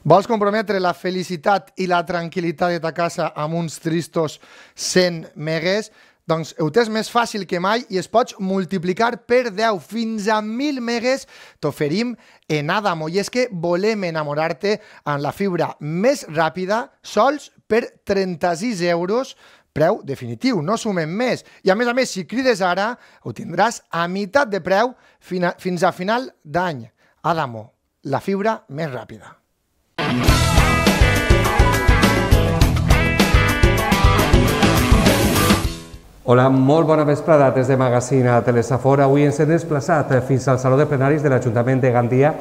Vols comprometre la felicitat i la tranquil·litat de ta casa amb uns tristos 100 megues? Doncs ho tens més fàcil que mai i es pots multiplicar per 10 fins a 1.000 megues t'oferim en Adamo. I és que volem enamorar-te amb la fibra més ràpida sols per 36 euros, preu definitiu, no sumem més. I a més, si crides ara, ho tindràs a meitat de preu fins a final d'any. Adamo, la fibra més ràpida. Hola, molt bona vesprada des de Magazine a Telesafor. Avui ens hem desplaçat fins al Saló de Plenaris de l'Ajuntament de Gandia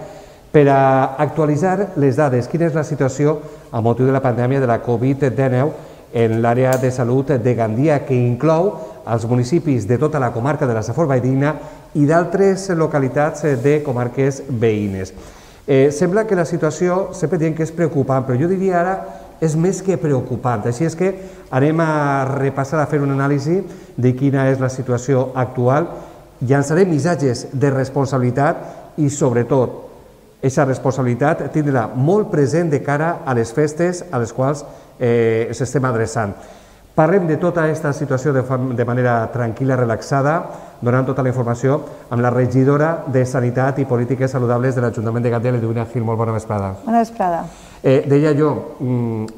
per a actualitzar les dades. Quina és la situació a motiu de la pandèmia de la Covid-19 en l'àrea de salut de Gandia, que inclou els municipis de tota la comarca de la Safor Valldigna i d'altres localitats de comarques veïnes. Sembla que la situació, sempre diem que és preocupant, però jo diria ara és més que preocupant. Així és que anem a repassar, a fer una anàlisi de quina és la situació actual, llançarem missatges de responsabilitat i, sobretot, aquesta responsabilitat tindrà molt present de cara a les festes a les quals ens estem adreçant. Parlem de tota aquesta situació de manera tranquil·la, relaxada, donant tota la informació amb la regidora de Sanitat i Polítiques Saludables de l'Ajuntament de Gandia, l'Edwina Gil. Molt bona vesprada. Bona vesprada. Deia jo,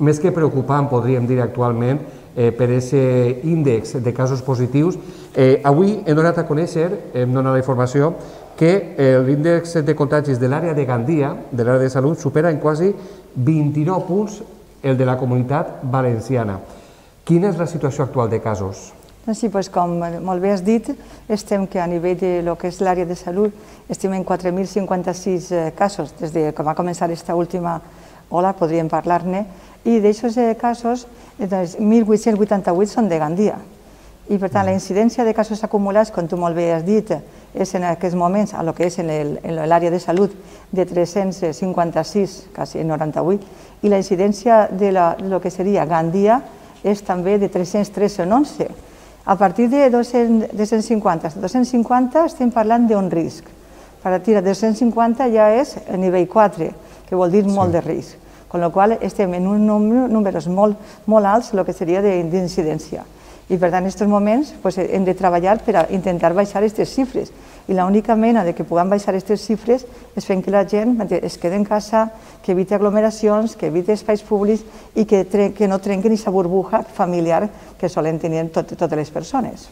més que preocupant, podríem dir actualment, per aquest índex de casos positius. Avui hem donat a conèixer, hem donat la informació, que l'índex de contagis de l'àrea de Gandia, de l'àrea de salut, supera en quasi 29 punts el de la Comunitat Valenciana. Quina és la situació actual de casos? Sí, com molt bé has dit, estem que a nivell de lo que és l'àrea de salut estem en 4.056 casos des de que va començar aquesta última ola, podríem parlar-ne, i d'aquests casos 1.888 són de Gandia. I per tant la incidència de casos acumulats, com tu molt bé has dit, és en aquests moments, a lo que és en l'àrea de salut, de 356, quasi 98, i la incidència de lo que seria Gandia és també de 313 en 11. A partir de 250 estem parlant d'un risc. A partir de 250 ja és a nivell 4, que vol dir molt de risc. Amb la qual cosa estem en uns números molt alts, el que seria d'incidència. I per tant, en aquests moments hem de treballar per intentar baixar aquestes xifres. I l'única mena que puguem baixar aquestes xifres és fent que la gent es quedi en casa, que eviti aglomeracions, que eviti espais públics i que no trenquen aquesta burbuja familiar que solen tenir totes les persones.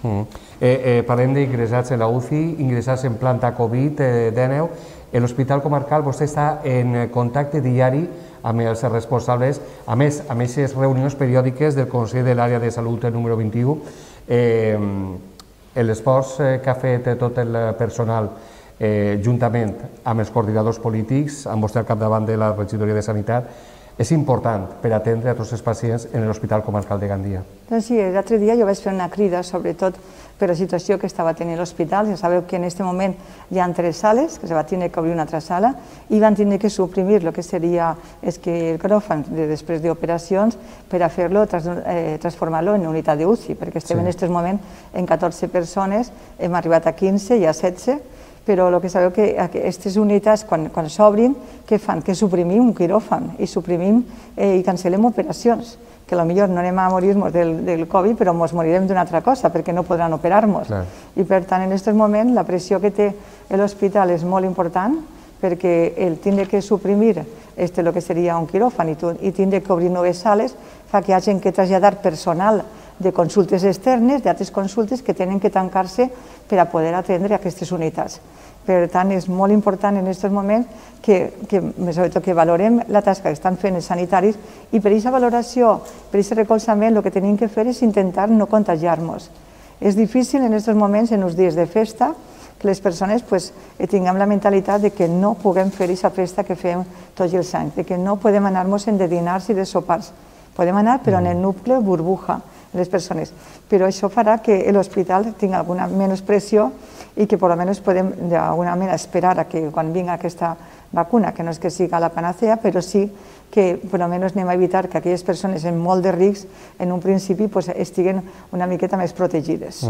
Parlem d'ingressats en la UCI, ingressats en planta Covid-19. En l'Hospital Comarcal vostè està en contacte diari amb els responsables, a més, amb aquestes reunions periòdiques del Consell de l'Àrea de Salut número 21, l'esforç que ha fet tot el personal juntament amb els coordinadors polítics, amb vostè al capdavant de la regidoria de Sanitat, és important per atendre a tots els pacients en l'Hospital Comarcal de Gandia. Doncs sí, l'altre dia jo vaig fer una crida, sobretot per la situació que estava tenint l'hospital. Ja sabeu que en aquest moment hi ha 3 sales, que se va tenir que obrir una altra sala, i van tenir que suprimir el que seria el quiròfan després d'operacions per a fer-lo, transformar-lo en unitat d'UCI, perquè estem en aquest moment en 14 persones, hem arribat a 15 i a 16, però el que sabeu que aquestes unitats, quan s'obrin, què fan? Que suprimim un quiròfan i suprimim i cancel·lem operacions, que potser no anem a morir-nos del Covid, però ens morirem d'una altra cosa, perquè no podran operar-nos. I per tant, en aquest moment, la pressió que té l'hospital és molt important, perquè el tindre que suprimir el que seria un quiròfan i tindre que obrir noves sales fa que hagin que traslladar personal de consultes externes, d'altres consultes que tenen que tancar-se per a poder atendre aquestes unitats. Per tant, és molt important en aquests moments sobretot que valorem la tasca que estan fent els sanitaris i per aquesta valoració, per aquest recolzament, el que tenim que fer és intentar no contagiar-nos. És difícil en aquests moments, en els dies de festa, que les persones tinguem la mentalitat de que no puguem fer aquesta festa que fem tots els anys, de que no podem anar-nos de dinars i de sopars. Podem anar, però en el nucle burbuja les persones. Però això farà que l'hospital tingui alguna menys pressió i que almenys podem d'alguna manera esperar que quan vingui aquesta vacuna, que no és que siga la panacea, però sí que per almenys anem a evitar que aquelles persones amb molt de risc en un principi estiguen una miqueta més protegides.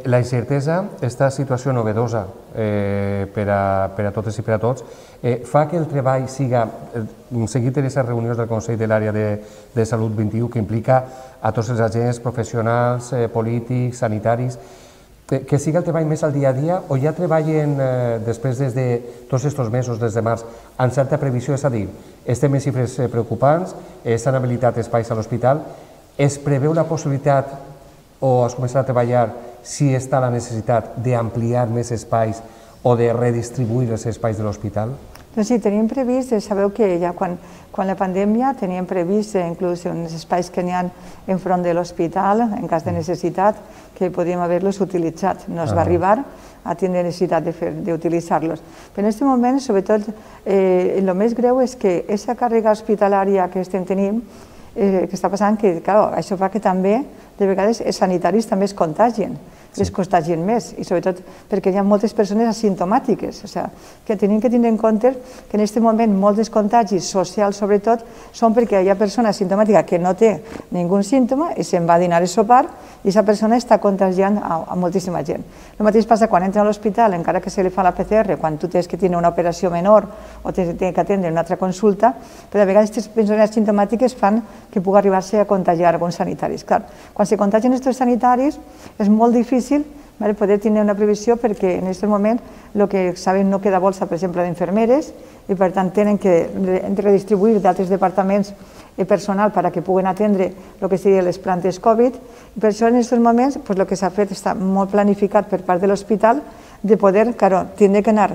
La incertesa, aquesta situació novedosa per a totes i per a tots, fa que el treball siga, seguit en aquestes reunions del Consell de l'Àrea de Salut 21, que implica a tots els agents professionals, polítics, sanitaris, que siga el treball més al dia a dia, o ja treballen després de tots aquests mesos, des de març, amb certa previsió? És a dir, estem en xifres preocupants, s'han habilitat espais a l'hospital, es preveu la possibilitat o es començarà a treballar si està la necessitat d'ampliar més espais o de redistribuir els espais de l'hospital? Doncs sí, teníem previst, sabeu que ja quan la pandèmia teníem previst inclús uns espais que n'hi ha enfront de l'hospital, en cas de necessitat, que podíem haver-los utilitzat. No es va arribar a tindre necessitat d'utilitzar-los. Però en aquest moment, sobretot, el més greu és que aquesta càrrega hospitalària que estem tenint, que està passant, que això fa que també, de vegades, els sanitaris també es contagien. Es contagien més, i sobretot perquè hi ha moltes persones asimptomàtiques, o sigui, que tenim que tindre en compte que en aquest moment molts dels contagis socials, sobretot, són perquè hi ha persona asimptomàtica que no té ningú símptoma i se'n va a dinar a sopar i aquesta persona està contagiant a moltíssima gent. El mateix passa quan entra a l'hospital, encara que se li fa la PCR, quan tu tens que tenir una operació menor o tens que atendre una altra consulta, però a vegades aquestes persones asimptomàtiques fan que pugui arribar-se a contagiar alguns sanitaris. Clar, quan se contagien aquests sanitaris és molt difícil poder tenir una previsió perquè en aquest moment el que saben no queda bolsa, per exemple, d'infermeres i per tant tenen que redistribuir d'altres departaments personal perquè puguen atendre el que serien les plantes Covid i per això en aquests moments el que s'ha fet està molt planificat per part de l'hospital de poder, tindre que anar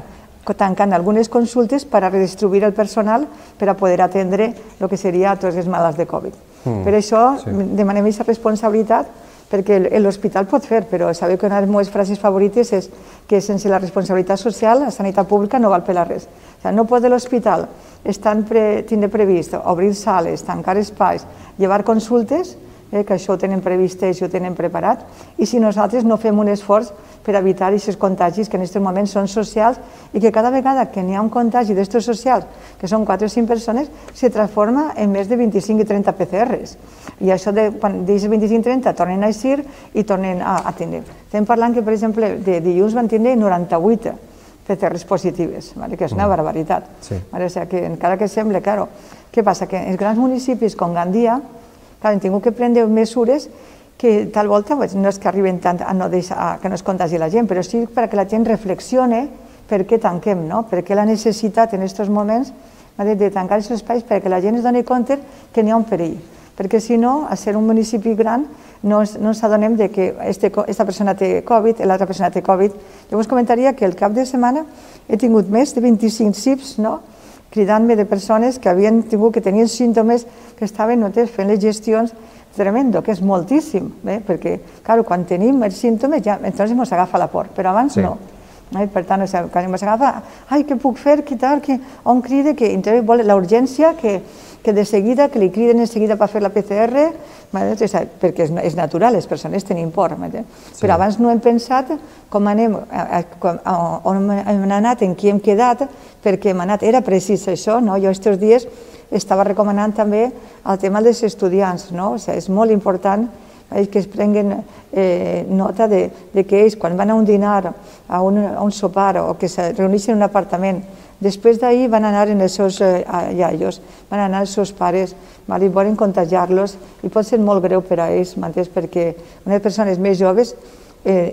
tancant algunes consultes per a redistribuir el personal per a poder atendre el que seria tots els malalts de Covid. Per això demanem aquesta responsabilitat perquè l'hospital pot fer, però sabeu que una de les meves frases favorites és que sense la responsabilitat social la sanitat pública no val per a res. No pot l'hospital tindre previst obrir sales, tancar espais, llevar consultes, que això ho tenen previst i ho tenen preparat, i si nosaltres no fem un esforç per evitar aquests contagis que en aquests moments són socials i que cada vegada que n'hi ha un contagi d'estos socials, que són 4 o 5 persones, se transforma en més de 25 i 30 PCRs. I això, quan d'aquests 25 i 30 tornen a eixir i tornen a tindre. Estem parlant que, per exemple, de dilluns van tindre 98 PCRs positives, que és una barbaritat. O sigui, encara que sembla, què passa? Que en els grans municipis com Gandia han tingut que prendre mesures que tal volta no és que arriben tant a no deixar que no es contagi la gent, però sí perquè la gent reflexione per què tanquem, per què la necessitat en aquests moments de tancar aquests espais perquè la gent es doni compte que n'hi ha un perill. Perquè si no, a ser un municipi gran, no ens adonem que aquesta persona té Covid, l'altra persona té Covid. Jo us comentaria que el cap de setmana he tingut més de 25 CIPs, cridant-me de persones que havien tingut, que tenien símptomes, que estaven fent les gestions, tremendo, que és moltíssim, perquè, clar, quan tenim els símptomes, ja entonces ens agafa la por, però abans no. Per tant, quan ens agafa, què puc fer, què tal, on crida, que vol la urgència, que de seguida, que li criden de seguida per fer la PCR, perquè és natural, les persones tenim por. Però abans no hem pensat com anem, on hem anat, en qui hem quedat, perquè hem anat, era precís això, jo aquests dies estava recomanant també el tema dels estudiants, és molt important que es prenguen nota que ells, quan van a un dinar, a un sopar o que se reuneixen en un apartament, després d'ahir van anar als seus iaios, van anar als seus pares, i volen contagiar-los i pot ser molt greu per a ells, perquè unes persones més joves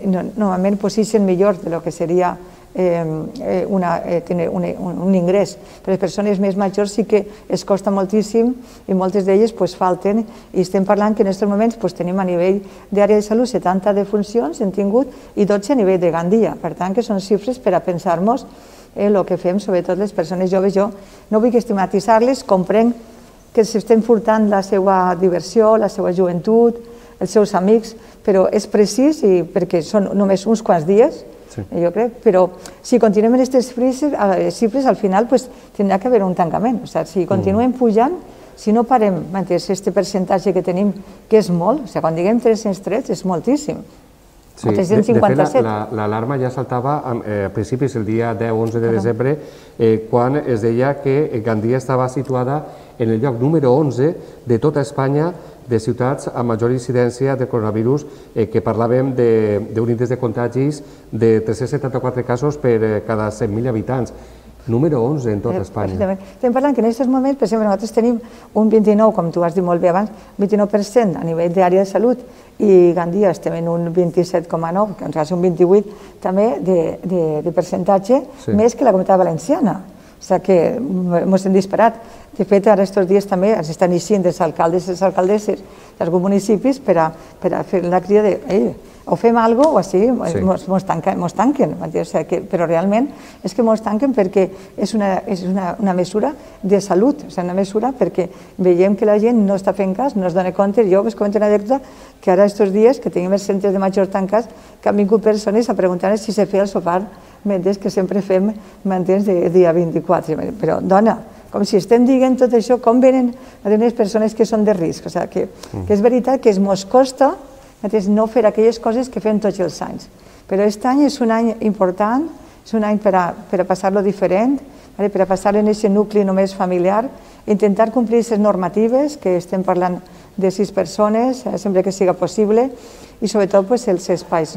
normalment s'eixen millor del que seria tenir un ingrés. Per les persones més majors sí que es costa moltíssim i moltes d'elles falten i estem parlant que en aquests moments tenim a nivell d'àrea de salut 70 defuncions hem tingut i 12 a nivell de Gandia. Per tant, que són xifres per a pensar-nos el que fem, sobretot les persones joves. Jo no vull estigmatitzar-les, comprenc que s'estem furtant la seva diversió, la seva joventut, els seus amics, però és precís perquè són només uns quants dies, jo crec, però si continuem en aquestes xifres, al final tindrà que haver un tancament. Si continuem pujant, si no parem aquest percentatge que tenim, que és molt, quan diguem 303 és moltíssim. Sí, de fet, l'alarma ja saltava a principis el dia 10-11 de desembre, quan es deia que Gandia estava situada en el lloc número 11 de tota Espanya de ciutats amb major incidència de coronavirus, que parlàvem d'un índex de contagis de 374 casos per cada 100.000 habitants. Número 11 en tota Espanya. Estem parlant que en aquests moments, per exemple, nosaltres tenim un 29, com tu has dit molt bé abans, 29% a nivell d'àrea de salut, i Gandia estem en un 27,9, que ens va ser un 28 també de percentatge, més que la Comunitat Valenciana. O sigui que ens hem disparat. De fet, ara aquests dies també ens estan eixint els alcaldes i les alcaldesses d'alguns municipis per a fer la crida de o fem alguna cosa o així mos tanquen. Però realment és que mos tanquen perquè és una mesura de salut, és una mesura perquè veiem que la gent no està fent cas, no es dona compte. Jo us comento una anècdota que ara aquests dies que tenim els centres de majors tancats que han vingut persones a preguntar si se feia el sopar mentre que sempre fem mantens de dia 24. Però, dona, com si estem dient tot això, com venen les persones que són de risc. O sigui, que és veritat que mos costa no fer aquelles coses que fem tots els anys. Però aquest any és un any important, és un any per a passar-lo diferent, per a passar en aquest nucli només familiar, intentar complir aquestes normatives, que estem parlant de 6 persones, sempre que siga possible, i sobretot els espais,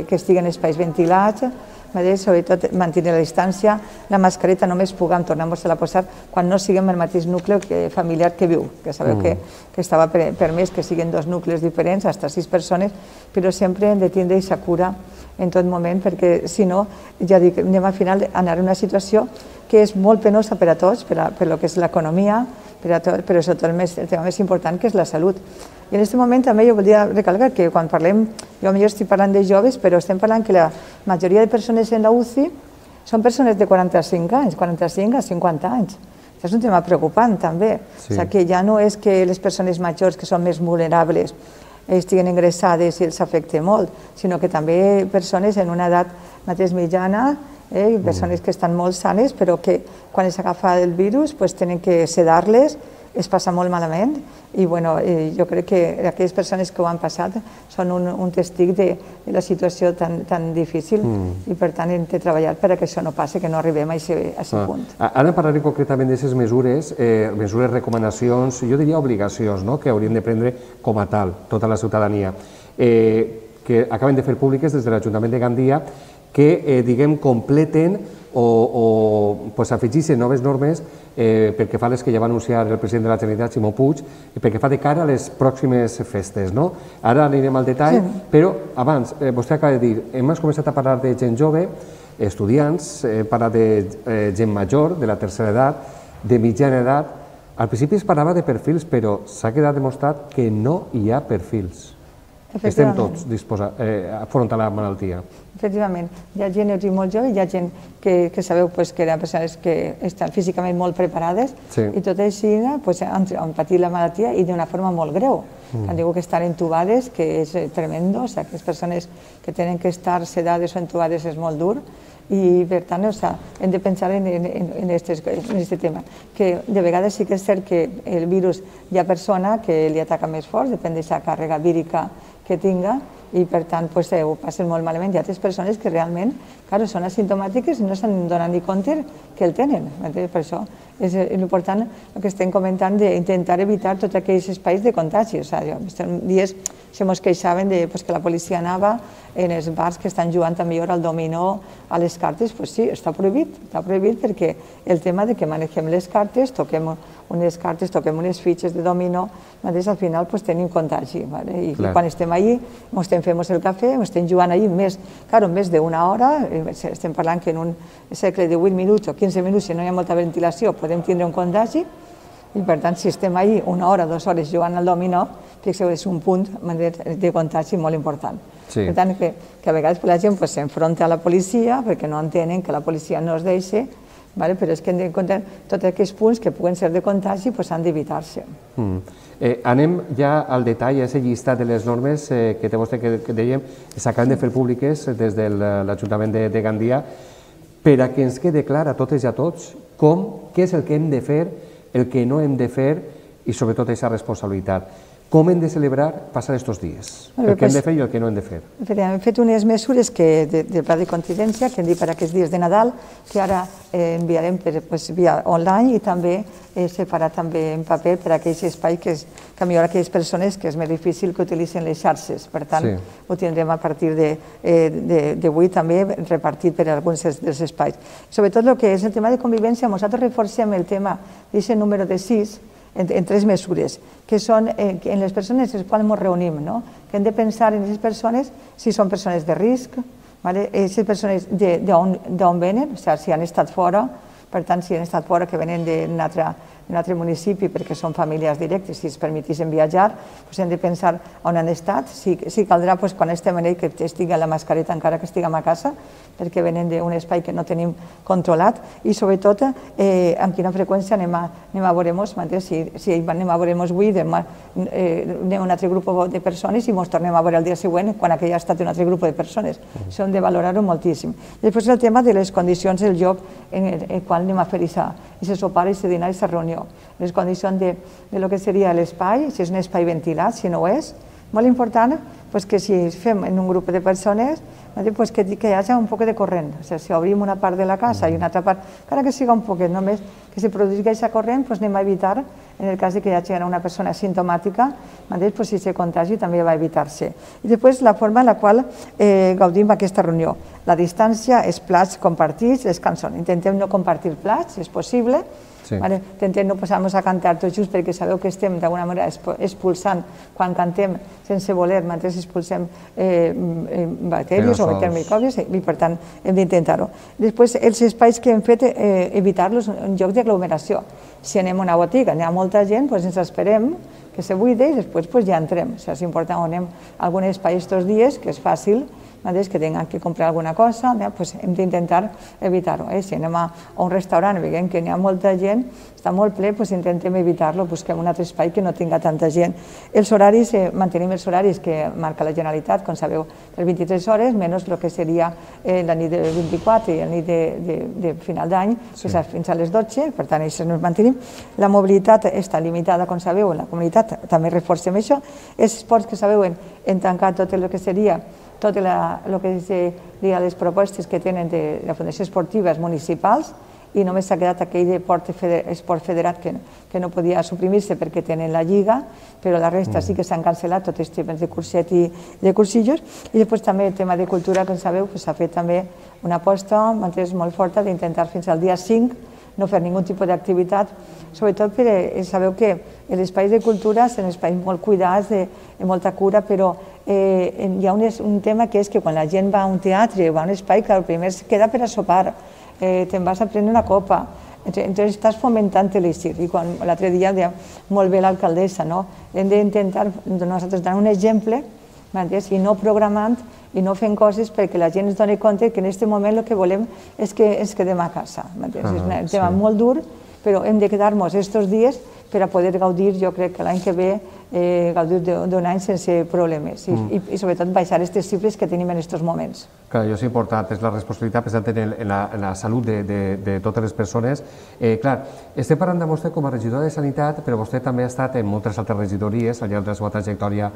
que estiguen espais ventilats, sobretot mantenir la distància, la mascareta només puguem tornar-nos-la a posar quan no siguem el mateix nucli familiar que viu, que sabeu que estava permès que siguin 2 nuclis diferents, fins a 6 persones, però sempre hem de tindre aquesta cura en tot moment, perquè si no, ja dic, anem al final a anar a una situació que és molt penosa per a tots, per el que és l'economia, però sobretot el tema més important, que és la salut. I en aquest moment també jo voldria recalcar que quan parlem, jo potser estic parlant de joves, però estem parlant que la majoria de persones en la UCI són persones de 45 anys, 45 a 50 anys. Això és un tema preocupant també. O sigui que ja no és que les persones majors que són més vulnerables estiguin ingressades i els afecti molt, sinó que també persones en una edat mateix mitjana, persones que estan molt sanes, però que quan s'agafa el virus tenen que sedar-les, es passa molt malament, i jo crec que aquelles persones que ho han passat són un testig de la situació tan difícil, i per tant hem de treballar perquè això no passi, que no arribem a aquest punt. Ara parlarem concretament d'aquestes mesures, recomanacions, jo diria obligacions, que hauríem de prendre com a tal tota la ciutadania, que acaben de fer públiques des de l'Ajuntament de Gandia, que, diguem, completen o afegeixen noves normes pel que fa a les que ja va anunciar el president de la Generalitat, Ximo Puig, pel que fa de cara a les pròximes festes. Ara anirem al detall, però abans, vostè acaba de dir, hem començat a parlar de gent jove, estudiants, hem parlat de gent major, de la tercera edat, de mitjana edat. Al principi es parlava de perfils, però s'ha quedat demostrat que no hi ha perfils. Estem tots disposats a afrontar la malaltia. Efectivament, hi ha gent molt jove, hi ha gent que sabeu que eren persones que estan físicament molt preparades, i tot així han patit la malaltia i d'una forma molt greu. Han dit que estan entubades, que és tremendo, les persones que tenen que estar sedades o entubades és molt dur, i per tant hem de pensar en aquest tema, que de vegades sí que és cert que el virus hi ha persona que li ataca més fort, depèn de la càrrega vírica que tinga, i per tant ho passen molt malament. Hi ha altres persones que realment són asimptomàtiques i no se'n donen ni compte que el tenen. Per això és important el que estem comentant d'intentar evitar tots aquells espais de contagi. Aquests dies se mos queixaven que la policia anava en els bars que estan jugant també al dominó, a les cartes. Doncs sí, està prohibit perquè el tema que manegem les cartes, toquem unes cartes, toquem unes fitxes de dominó, al final tenim contagi. I quan estem allí, ens fem el cafè, estem jugant allí més d'una hora, estem parlant que en un segle de 8 minuts o 15 minuts, si no hi ha molta ventilació, podem tindre un contagi, i per tant, si estem allí una hora, 2 hores jugant al dominó, fixeu, és un punt de contagi molt important. Per tant, que a vegades la gent s'enfronta a la policia perquè no entenen que la policia no es deixa, però és que hem de comptar tots aquests punts que puguen ser de contagi han d'evitar-se. Anem ja al detall, a aquest llistat de les normes que té vostè, que dèiem, que s'acaben de fer públiques des de l'Ajuntament de Gandia, per a que ens quede clar a totes i a tots què és el que hem de fer, el que no hem de fer, i sobretot aquesta responsabilitat. com hem de celebrar passar aquests dies? El que hem de fer i el que no hem de fer. Hem fet unes mesures del pla de contingència que hem dit per aquests dies de Nadal, que ara enviarem via online i també separat també en paper per a aquells espais que millor aquelles persones que és més difícil que utilitzen les xarxes. Per tant, ho tindrem a partir d'avui també repartit per a alguns dels espais. Sobretot el que és el tema de convivència, nosaltres reforcem el tema d'aquest número de 6 en 3 mesures, que són en les persones en les quals ens reunim, que hem de pensar en aquestes persones si són persones de risc, aquestes persones d'on venen, o sigui, si han estat fora, per tant, si han estat fora, que venen d'un altre municipi perquè són famílies directes, si es permetissin viatjar, hem de pensar on han estat, si caldrà quan estem en ell que estigui a la mascareta encara que estiguem a casa, perquè venen d'un espai que no tenim controlat, i sobretot amb quina freqüència anem a veure-nos, si anem a veure-nos avui, demà anem a un altre grup de persones i ens tornem a veure el dia següent quan aquell ha estat un altre grup de persones. Això hem de valorar-ho moltíssim. Després el tema de les condicions del lloc en el qual anem a fer aquest sopar, aquest dinar, aquesta reunió. Les condicions de lo que seria l'espai, si és un espai ventilat, si no ho és. Molt important que si fem en un grup de persones que hi hagi un poc de corrent. Si obrim una part de la casa i una altra part, encara que sigui un poquet, només que si produís aquesta corrent, anem a evitar, en el cas que hi hagi una persona asimptomàtica, si se contagi també va evitar-se. I després la forma en la qual gaudim aquesta reunió. La distància, els plats compartits, les cançons. Intentem no compartir plats, si és possible. Intentem no posar-nos a cantar tot just perquè sabeu que estem d'alguna manera expulsant, quan cantem sense voler, mentre expulsem bacteris o microbis, i per tant hem d'intentar-ho. Després, els espais que hem fet, evitar-los en llocs d'aglomeració. Si anem a una botiga, hi ha molta gent, ens esperem que se buide i després ja entrem. És important, anem a algun espai aquests dies, que és fàcil, que tinguin que comprar alguna cosa, hem d'intentar evitar-ho. Si anem a un restaurant i veiem que hi ha molta gent, està molt ple, intentem evitar-lo, busquem un altre espai que no tinga tanta gent. Els horaris, mantenim els horaris que marca la Generalitat, com sabeu, per 23 hores, menys el que seria la nit del 24 i la nit de final d'any, que és fins a les 12, per tant, això ens mantenim. La mobilitat està limitada, com sabeu, en la comunitat, també reforcem això. Els esports que sabeu, hem tancat tot el que seria tot el que seria les propostes que tenen de la Fundació Esportives municipals i només s'ha quedat aquell esport federat que no podia suprimir-se perquè tenen la lliga, però la resta sí que s'han cancel·lat tots els temes de curset i de cursillos. I després també el tema de cultura, com sabeu, s'ha fet també una aposta molt forta d'intentar fins al dia 5 no fer ningun tipus d'activitat, sobretot perquè sabeu que els espais de cultura són espais molt cuidats, de molta cura, però hi ha un tema que és que quan la gent va a un teatre o va a un espai, el primer es queda per a sopar, te'n vas a prendre una copa, entonces estàs fomentant l'eixir. I l'altre dia deia molt bé l'alcaldessa, hem d'intentar nosaltres donar un exemple i no programant i no fent coses perquè la gent es doni compte que en aquest moment el que volem és que ens quedem a casa. És un tema molt dur, però hem de quedar-nos aquests dies per a poder gaudir, jo crec que l'any que ve, gaudir d'un any sense problemes i sobretot baixar aquestes xifres que tenim en aquests moments. Clar, això és important, és la responsabilitat pensant en la salut de totes les persones. Clar, estem parlant de vostè com a regidor de Sanitat, però vostè també ha estat en moltes altres regidories al llarg de la seva trajectòria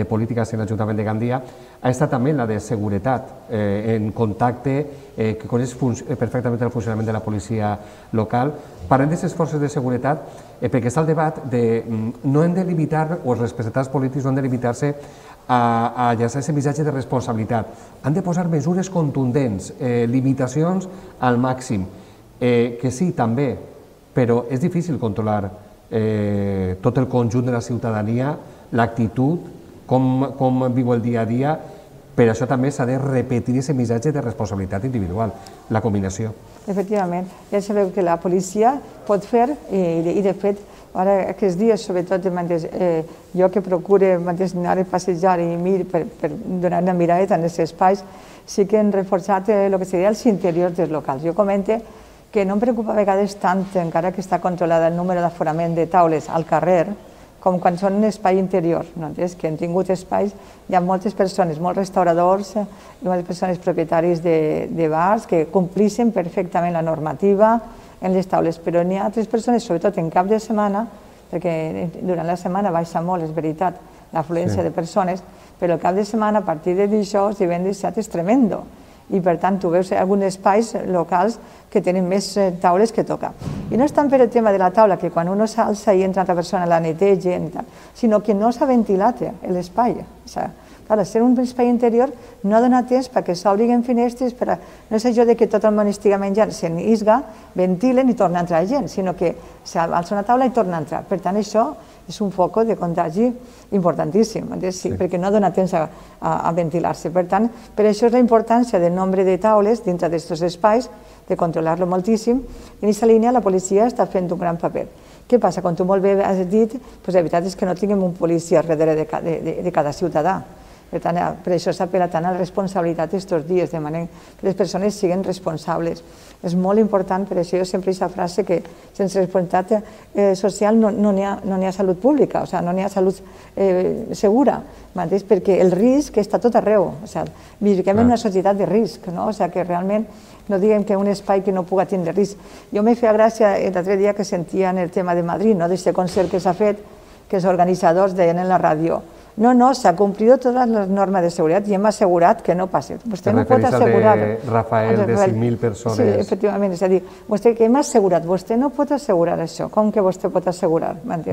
política en l'Ajuntament de Gandia. Ha estat també en la de Seguretat, en contacte, que coneix perfectament el funcionament de la policia local. Parlem d'aquestes forces de seguretat perquè està el debat de no hem de limitar, o els representants polítics no han de limitar-se a llançar aquest missatge de responsabilitat. Han de posar mesures contundents, limitacions al màxim, que sí, també, però és difícil controlar tot el conjunt de la ciutadania, l'actitud, com viu el dia a dia. Per això també s'ha de repetir aquest missatge de responsabilitat individual, la combinació. Efectivament, ja sabeu que la policia pot fer, i de fet, ara aquests dies, sobretot jo que procuro anar a passejar i per donar una mirada en aquests espais, sí que hem reforçat el que seria els interiors dels locals. Jo comento que no em preocupa a vegades tant, encara que està controlada el número d'aforament de taules al carrer, com quan són un espai interior, que han tingut espais, hi ha moltes persones, molts restauradors, moltes persones propietaris de bars que complixen perfectament la normativa en les taules, però n'hi ha altres persones, sobretot en cap de setmana, perquè durant la setmana baixa molt, és veritat, l'afluència de persones, però el cap de setmana, a partir de dijous, divendres, dissabte, és tremendo. I per tant tu veus alguns espais locals que tenen més taules que tocar. I no és tant per el tema de la taula, que quan uno s'alça i entra altra persona la netegen, sinó que no s'ha ventilat l'espai. Clar, ser un espai interior no dona temps perquè s'obriguen finestres, no és això de que tot el món estigui menjant, se n'isga, ventilen i torna a entrar gent, sinó que s'alça una taula i torna a entrar. Per tant, això és un foc de contagi importantíssim, perquè no dona temps a ventilar-se. Per tant, per això és la importància del nombre de taules dintre d'aquests espais, de controlar-lo moltíssim, i en aquesta línia la policia està fent un gran paper. Què passa? Com tu molt bé has dit, la veritat és que no tinguem un policia darrere de cada ciutadà. Per tant, per això s'apel·la tant a la responsabilitat aquests dies, de manera que les persones siguin responsables. És molt important, per això jo sempre he aquesta frase que sense responsabilitat social no n'hi ha salut pública, no n'hi ha salut segura, perquè el risc està tot arreu. Vivim en una societat de risc, que realment no diguem que un espai que no pugui tindre risc. Jo m'he fet gràcia l'altre dia que sentia en el tema de Madrid, d'aquest concert que s'ha fet, que els organitzadors deien en la ràdio: no, s'ha cumplido todas las normas de seguridad y hem assegurat que no passi. Vostè no pot assegurar... Rafael, de 5.000 persones. Sí, efectivament, és a dir, vostè que hem assegurat, vostè no pot assegurar això. Com que vostè pot assegurar? En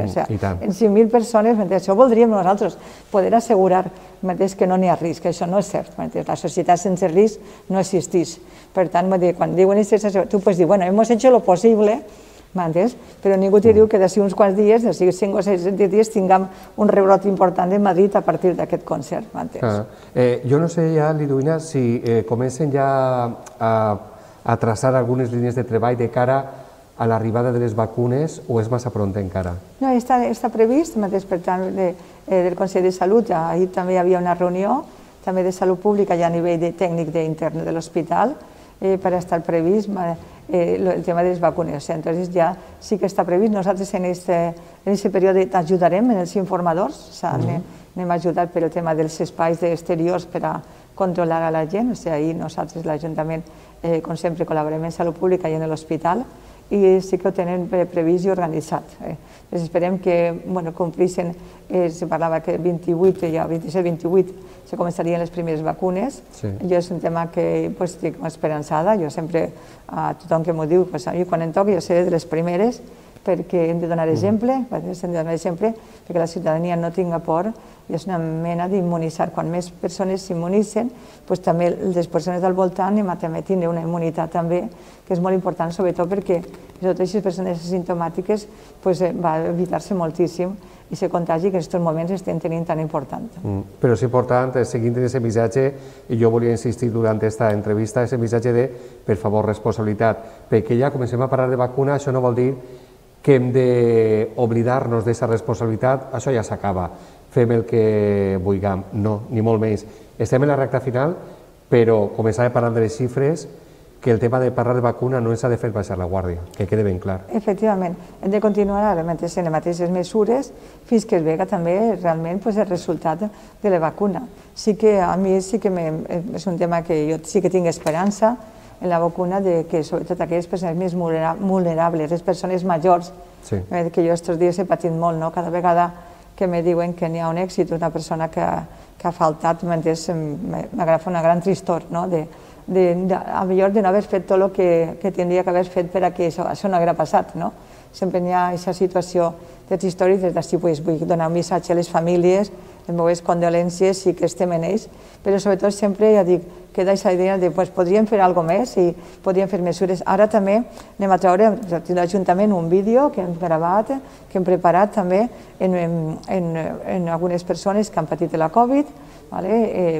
5.000 persones, això voldríem nosaltres, poder assegurar que no n'hi ha risc, això no és cert. La societat sense risc no existeix. Per tant, quan diuen això, tu pots dir, bueno, hemos hecho lo posible, però ningú t'hi diu que d'ací uns quants dies, d'ací 5 o 6 dies, tinguem un rebrot important de Madrid a partir d'aquest concert. Jo no sé ja, Liduina, si comencen ja a traçar algunes línies de treball de cara a l'arribada de les vacunes o és massa pront encara? No, està previst, per tant, del Consell de Salut, ahir també hi havia una reunió, també de Salut Pública i a nivell tècnic intern de l'hospital, per estar previst el tema de les vacunes. Entonces ja sí que està previst. Nosaltres en aquest període ajudarem en els informadors, anem a ajudar per el tema dels espais exteriors per a controlar a la gent. Ahir nosaltres, l'Ajuntament, com sempre, col·laborem en Salut Pública i en l'hospital i sí que ho tenen previst i organitzat. Esperem que complissin, se parlava que el 28, ja 27-28, se començarien les primeres vacunes. Jo és un tema que estic esperançada, jo sempre, a tothom que m'ho diu, quan em toqui jo seré de les primeres, perquè hem de donar exemple, perquè la ciutadania no tinga por, i és una mena d'immunitzar. Quan més persones s'immunitzen, també les persones del voltant també tindran una immunitat també, que és molt important, sobretot perquè totes aquestes persones asimptomàtiques va evitar-se moltíssim i se contagi que en aquests moments estem tenint tan important. Però és important, seguint aquest missatge, i jo volia insistir durant aquesta entrevista, aquest missatge de, per favor, responsabilitat, perquè ja comencem a parlar de vacuna, això no vol dir que hem d'oblidar-nos d'aquesta responsabilitat, això ja s'acaba, fem el que vulguem, no, ni molt menys. Estem en la recta final, però començar a parlar de les xifres, que el tema de parlar de vacuna no ens ha de fer baixar la guàrdia, que quede ben clar. Efectivament, hem de continuar en les mateixes mesures fins que es vega també realment el resultat de la vacuna. Sí que a mi sí que és un tema que jo sí que tinc esperança en la vacuna, que sobretot aquelles persones més vulnerables, les persones majors, que jo aquests dies he patit molt, cada vegada que me diuen que n'hi ha un èxit, una persona que ha faltat, m'agafa una gran tristor, a millor de no haver fet tot el que tindria que haver fet per a que això no haguera passat. Sempre hi ha aquesta situació de tristor i des d'ací vull donar un missatge a les famílies, les meves condolències i que estem en ells, però sobretot sempre ja dic, queda aquesta idea de podríem fer alguna cosa més i podríem fer mesures. Ara també anem a treure a l'Ajuntament un vídeo que hem gravat, que hem preparat també en algunes persones que han patit la Covid,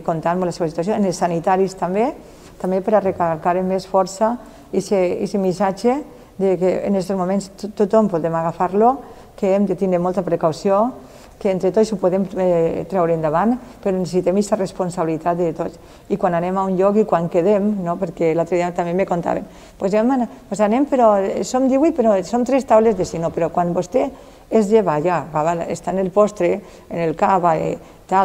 contant la seva situació, en els sanitaris també per a recalcar amb més força aquest missatge que en aquests moments tothom podem agafar-lo, que hem de tenir molta precaució, que entre tots ho podem treure endavant, però necessitem aquesta responsabilitat de tots. I quan anem a un lloc i quan quedem, perquè l'altre dia també me contaven, anem, però som 18, però som 3 taules de si no, però quan vostè es lleva ja, està en el postre, en el cava,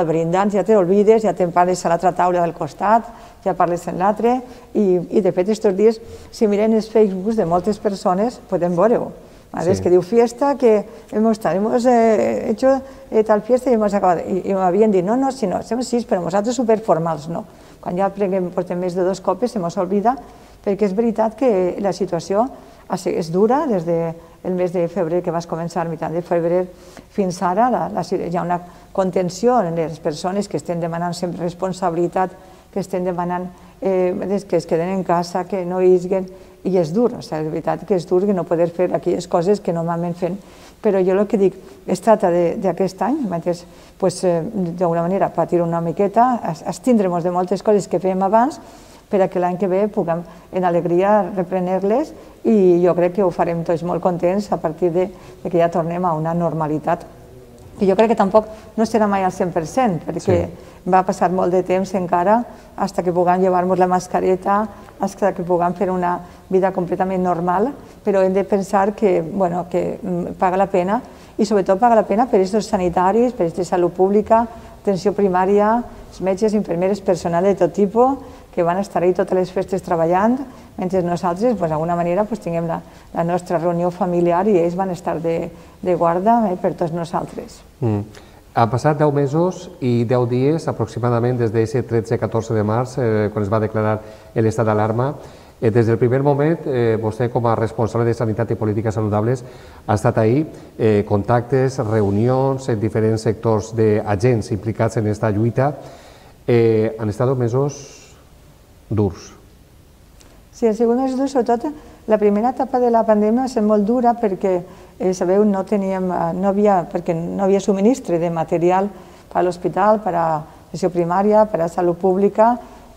brindant, ja te l'olvides, ja te'n parles a l'altra taula del costat, ja parles en l'altre, i de fet aquests dies, si mirem els Facebooks de moltes persones, podem veure-ho, Es que diu fiesta, que hemos hecho tal fiesta y hemos acabado. I m'havien dit, no, si no, som 6, però nosaltres superformals no. Quan ja portem més de 2 copes se mos oblida, perquè és veritat que la situació és dura des del mes de febrer, que vas començar a mitjà de febrer, fins ara hi ha una contenció en les persones que estan demanant sempre responsabilitat, que estan demanant que es queden en casa, que no isguen, i és dur, és veritat que és dur que no poder fer aquelles coses que normalment fem, però jo el que dic, es tracta d'aquest any, d'alguna manera patir una miqueta, abstindre-nos de moltes coses que fèiem abans, per que l'any que ve puguem en alegria reprendre-les, i jo crec que ho farem tots molt contents a partir que ja tornem a una normalitat. I jo crec que tampoc no serà mai al 100%, perquè va passar molt de temps encara fins que puguem llevar-nos la mascareta, fins que puguem fer una vida completament normal, però hem de pensar que paga la pena, i sobretot paga la pena per aquests sanitaris, per aquesta salut pública, atenció primària, els metges, infermeres, personal de tot tipus, que van estar ahí totes les festes treballant, mentre nosaltres, d'alguna manera, tinguem la nostra reunió familiar i ells van estar de guarda per tots nosaltres. Han passat 10 mesos i 10 dies aproximadament des d'aquest 13-14 de març, quan es va declarar l'estat d'alarma. Des del primer moment, vostè com a responsable de Sanitat i Polítiques Saludables ha estat ahí, contactes, reunions en diferents sectors d'agents implicats en aquesta lluita. Han estat mesos durs. Sí, han sigut més durs, sobretot la primera etapa de la pandèmia va ser molt dura perquè, sabeu, no havia subministre de material per a l'hospital, per a atenció primària, per a salut pública,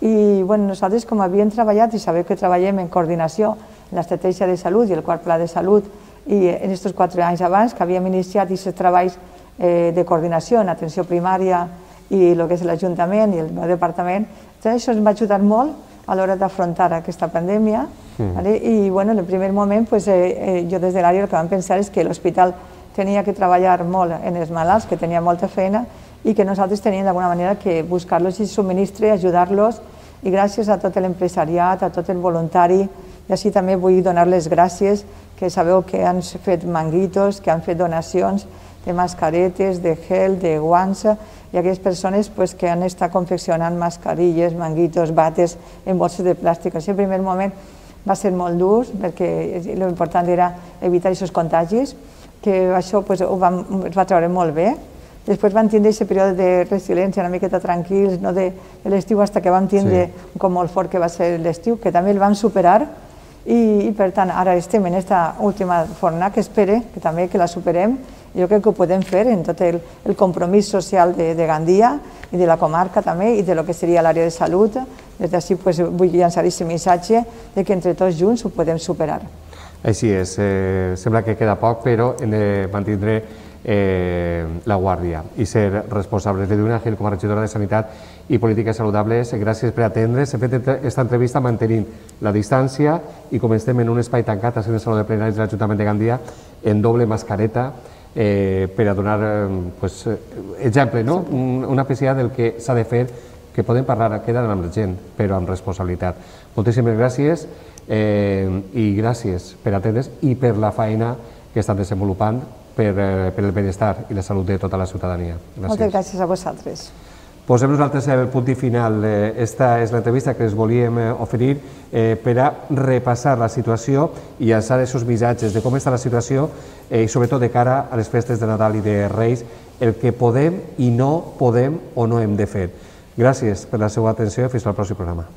i nosaltres com havíem treballat, i sabeu que treballem en coordinació en l'estratègia de salut i el quart pla de salut, i en aquests 4 anys abans que havíem iniciat aquests treballs de coordinació en atenció primària i el que és l'Ajuntament i el meu departament, això ens va ajudar molt a l'hora d'afrontar aquesta pandèmia. I en el primer moment jo des de l'àrea el que vam pensar és que l'hospital tenia que treballar molt en els malalts, que tenia molta feina, i que nosaltres teníem d'alguna manera que buscar-los i subministre, ajudar-los, i gràcies a tot l'empresariat, a tot el voluntari, i així també vull donar les gràcies, que sabeu que han fet manguitos, que han fet donacions de mascaretes, de gel, de guants, i aquelles persones que han estat confeccionant mascarilles, manguitos, bates en bosses de plàstic. Això al primer moment va ser molt dur, perquè l'important era evitar aquests contagis, que això es va treure molt bé. Després vam tindre aquest període de resiliència una miqueta tranquils, no de l'estiu, fins que vam tindre un cop molt fort que va ser l'estiu, que també el vam superar, i per tant ara estem en aquesta última fornada que espere que també que la superem. Jo crec que ho podem fer en tot el compromís social de Gandia i de la comarca també i del que seria l'àrea de salut. Des d'ací vull llançar aquest missatge que entre tots junts ho podem superar. Així és, sembla que queda poc, però hem de mantindre la guàrdia i ser responsables. Ledwina Gil, com a regidora de Sanitat i Polítiques Saludables, gràcies per atendre's. Hem fet aquesta entrevista mantenint la distància i com estem en un espai tancat, en el Saló de Plenaris de l'Ajuntament de Gandia, en doble mascareta, per a donar exemple, una peça del que s'ha de fer, que podem parlar, quedar amb la gent, però amb responsabilitat. Moltíssimes gràcies i gràcies per atendre's i per la feina que estan desenvolupant per el benestar i la salut de tota la ciutadania. Moltes gràcies a vosaltres. Posem nosaltres el punt i final. Esta és l'entrevista que us volíem oferir per a repassar la situació i llançar aquests missatges de com està la situació i sobretot de cara a les festes de Nadal i de Reis, el que podem i no podem o no hem de fer. Gràcies per la seva atenció i fins al pròxim programa.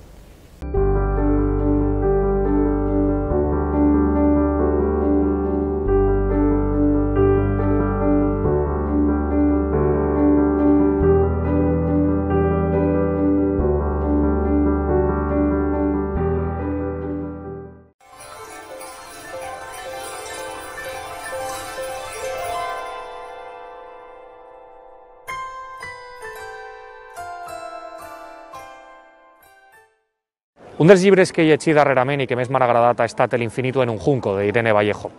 Un dels llibres que he llegit darrerament i que més m'ha agradat ha estat L'Infinito en un junco, d'Irene Vallejo.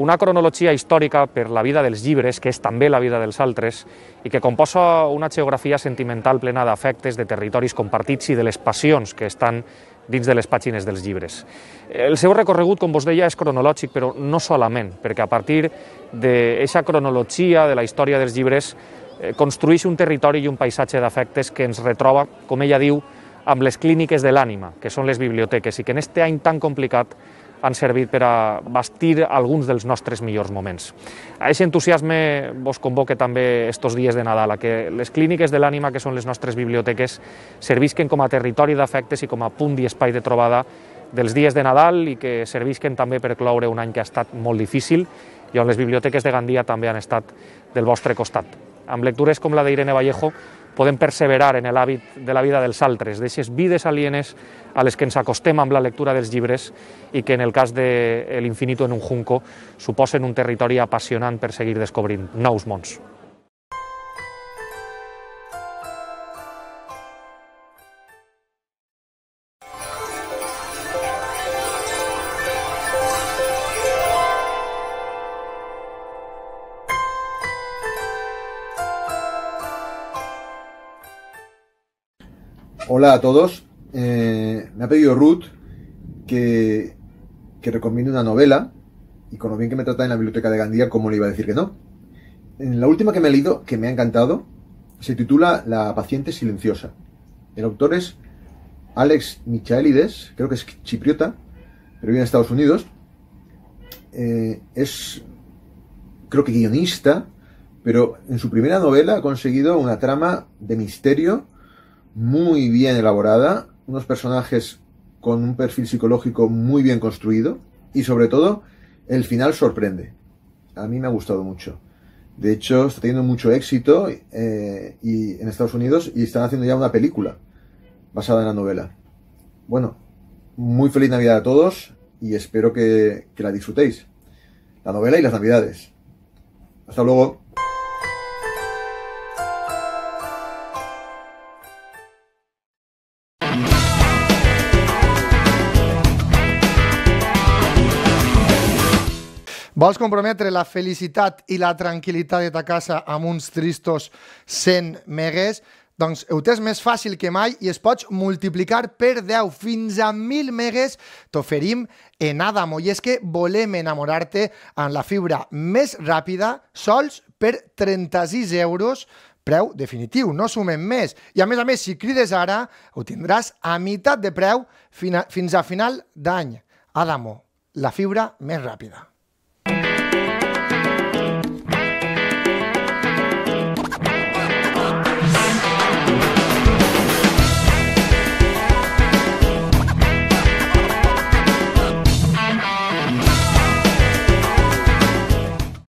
Una cronologia històrica per la vida dels llibres, que és també la vida dels altres, i que composa una geografia sentimental plena d'afectes, de territoris compartits i de les passions que estan dins de les pàgines dels llibres. El seu recorregut, com vos deia, és cronològic, però no solament, perquè a partir d'aquesta cronologia de la història dels llibres construeix un territori i un paisatge d'afectes que ens retroba, com ella diu, amb les clíniques de l'ànima, que són les biblioteques, i que en aquest any tan complicat han servit per a bastir alguns dels nostres millors moments. A aquest entusiasme vos convoque també estos dies de Nadal, a que les clíniques de l'ànima, que són les nostres biblioteques, servisquen com a territori d'afectes i com a punt i espai de trobada dels dies de Nadal i que servisquen també per cloure un any que ha estat molt difícil i on les biblioteques de Gandia també han estat del vostre costat. Amb lectures com la d'Irene Vallejo podem perseverar en l'hàbit de la vida dels altres, d'aquestes vides alienes a les que ens acostem amb la lectura dels llibres i que en el cas de L'Infinito en un junco suposen un territori apassionant per seguir descobrint nous mons. Hola a todos, me ha pedido Ruth que recomiende una novela y con lo bien que me trata en la biblioteca de Gandia, ¿cómo le iba a decir que no? En la última que me he leído, que me ha encantado, se titula La paciente silenciosa. El autor es Alex Michaelides, creo que es chipriota, pero vive en Estados Unidos. Es, creo que guionista, pero en su primera novela ha conseguido una trama de misterio muy bien elaborada, unos personajes con un perfil psicológico muy bien construido y sobre todo el final sorprende. A mí me ha gustado mucho. De hecho, está teniendo mucho éxito y en Estados Unidos y están haciendo ya una película basada en la novela. Bueno, muy feliz Navidad a todos y espero que la disfrutéis. La novela y las Navidades. Hasta luego. Vols comprometre la felicitat i la tranquil·litat de ta casa amb uns tristos 100 megues? Doncs ho tens més fàcil que mai i es pots multiplicar per 10 fins a 1.000 megues t'oferim en Adamo. I és que volem enamorar-te amb la fibra més ràpida sols per 36 euros, preu definitiu, no sumem més. I a més, si crides ara, ho tindràs a meitat de preu fins a final d'any. Adamo, la fibra més ràpida.